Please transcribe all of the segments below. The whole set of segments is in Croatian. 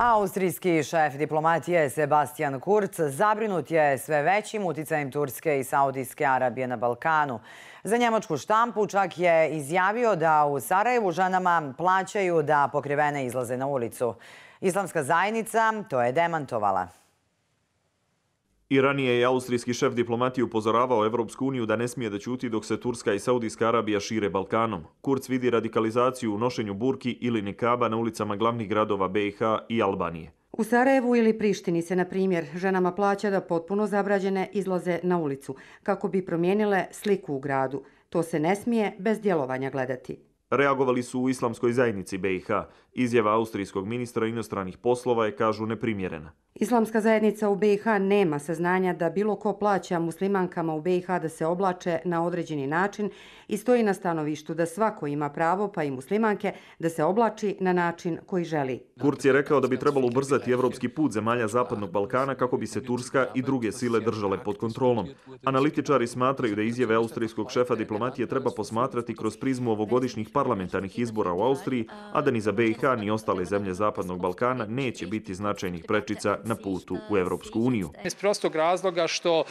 Austrijski šef diplomatije Sebastian Kurz zabrinut je sve većim uticajem Turske i Saudijske Arabije na Balkanu. Za njemačku štampu čak je izjavio da u Sarajevu ženama plaćaju da pokrivene izlaze na ulicu. Islamska zajednica to je demantovala. I ranije je austrijski šef diplomatije upozoravao Evropsku uniju da ne smije da ćuti dok se Turska i Saudijska Arabija šire Balkanom. Kurz vidi radikalizaciju u nošenju burki ili nikaba na ulicama glavnih gradova BiH i Albanije. U Sarajevu ili Prištini se, na primjer, ženama plaća da potpuno zabrađene izlaze na ulicu kako bi promijenile sliku u gradu. To se ne smije bez djelovanja gledati. Reagovali su u islamskoj zajednici BiH. Izjava austrijskog ministra inostranih poslova je, kažu, neprimjerena. Islamska zajednica u BiH nema saznanja da bilo ko plaća muslimankama u BiH da se oblače na određeni način i stoji na stanovištu da svako ima pravo, pa i muslimanke, da se oblači na način koji želi. Kurz je rekao da bi trebalo ubrzati evropski put zemalja Zapadnog Balkana kako bi se Turska i druge sile držale pod kontrolom. Analitičari smatraju da izjave austrijskog šefa diplomatije treba posmatrati kroz prizmu ovogodišnjih parlamentarnih izbora u Austriji, a da ni za BiH ni ostale zemlje Zapadnog Balkana neće biti značajnih prečica na putu u Evropsku uniju. Iz prostog razloga što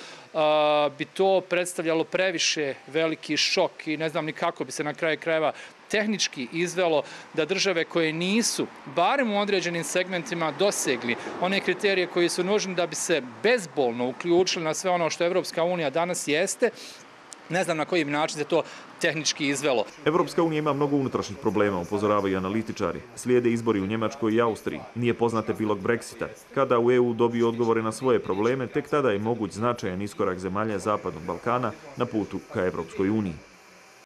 bi to predstavljalo previše veliki šok i ne znam ni kako bi se na kraju krajeva tehnički izvelo da države koje nisu, barem u određenim segmentima, dosegli one kriterije koji su nužni da bi se bezbolno uključili na sve ono što Evropska unija danas jeste, ne znam na koji način se to tehnički izvelo. Evropska unija ima mnogo unutrašnjih problema, upozoravaju analitičari. Slijede izbori u Njemačkoj i Austriji. Nije poznat epilog Brexita. Kada u EU dobiju odgovore na svoje probleme, tek tada je moguć značajan iskorak zemalja Zapadnog Balkana na putu ka Evropskoj uniji.